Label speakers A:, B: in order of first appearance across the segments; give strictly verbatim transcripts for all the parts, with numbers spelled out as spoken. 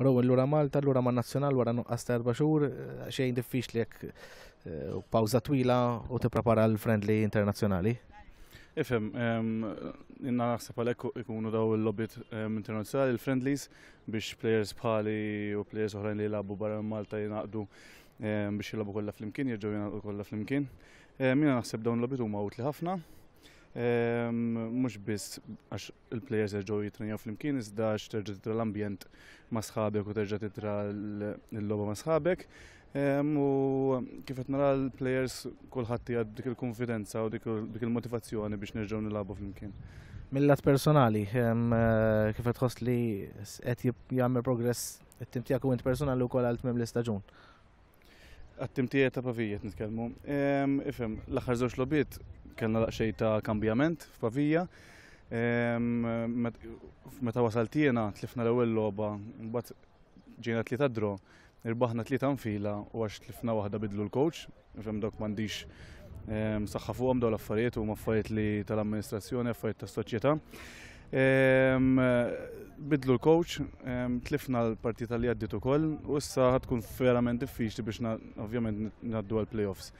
A: Rowan, lura Malta, lura ma' nazzjonal wara nuqqas ta' erba' xhur, xejn diffiċli jekk eh, pawża twila u tipprepara l-friendly internazzjonali.
B: Ifhem, jiena naħseb għalhekk ikunu daw il-logħbiet internazzjonali, il-friendlies, biex players bħali u players oħrajn li jilagħbu barra Malta jingħaqdu biex jilagħbu kollha flimkien, jerġgħu jingħaqdu kollha flimkien. Jiena naħseb dawn il-logħbiet huma utli ħafna. Mhux biss għax il-players jerġgħu jitrenjaw flimkien, iżda għax terġa' titra l-ambjent ma' sħabek u terġa' titra l-logħba ma' sħabek. U kif qed nara l-players, kulħadd qiegħed dik il-konfidenza u dik il-motivazzjoni biex nerġgħu nilagħbu flimkien.
A: Mill-lat personali, eh, kif qed tħoss li qed jagħmel progress it-tim tiegħek u int personali wkoll għal tmiem l-istaġun?
B: Għat-tim tiegħi ta' Pavija qed nitkellmu. Ifhem, l-aħħar żewġ logħbiet kellna daqsxejn ta' kambjament f'Pavija. Meta wasalt jiena tlifna l-ewwel logħba, mbagħad ġejna tlieta draw, irbaħna tlieta nfila u għax tlifna waħda bidlu l-coach, ifhem, dok m'għandix saħħa fuqhom dawn l-affarijiet, huma affarijiet li tal-amministrazzjoni, affarijiet tas-soċjetà. Bidlu l-coach, tlifna l-partita li għaddit ukoll u issa ħa tkun verament diffiċli biex ovvjament ngħaddu għal-playoffs.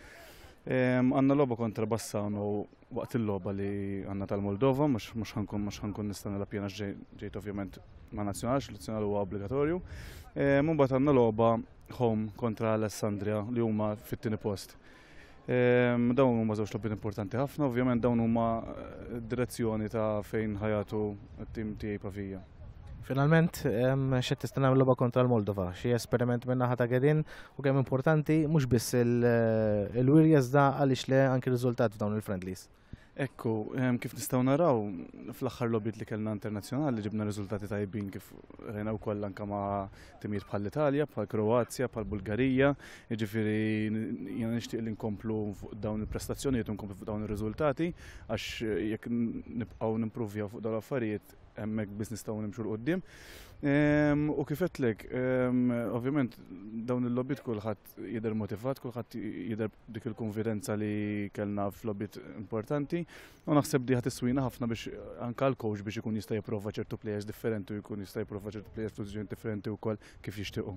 B: Għandna logħba kontra Bassano waqt il-logħba li għandna tal-Moldova, mhux ħa nkun mhux ħa nkun nista' nilgħab jiena, ġejt ovvjament ma' nazzjonal, l-nazzjonal huwa obbligatorju. Mbagħad għandna logħba home kontra Alessandria li huma fit-tieni post. Dawn huma żewġ logħbiet importanti ħafna, ovvjament dawn huma eh, direzzjoni ta' fejn ħa jagħtu t-tim tiegħi Pavija.
A: Finalment, x'qed tistenna l-logħba kontra l-Moldova? Xi esperiment minn naħa ta' Ghedin u kemm importanti mhux biss il-wirja iżda għaliex le anki riżultat f'dawn il-friendlies?
B: Ekku, kif nistgħu naraw, fl-aħħar logħbiet li kellna internazzjonali ġibna riżultati tajbin, kif rajna wkoll anke ma' timijiet bħal Italja, bħal Kroazja, bħal Bulgarija, jiġifieri jiena nixtieq li nkomplu fuq dawn il-prestazzjonijiet u nkomplu fuq dawn ir-riżultati, għax jekk nibqgħu nimpruvjaw fuq dawn l-affarijiet, hemmhekk biss nistgħu nimxu 'l quddiem. U kif għedtlek, ovvjament dawn il-logħbiet kulħadd jidher motivat, kulħadd jidher dik il-konfidenza li kellna f'logħbiet importanti u naħseb di ħa tiswina ħafna biex anka l-coach biex ikun jista' jipprova ċertu players differenti u jkun jista' jipprova ċertu players f'pożizzjoni differenti wkoll kif jixtiequ.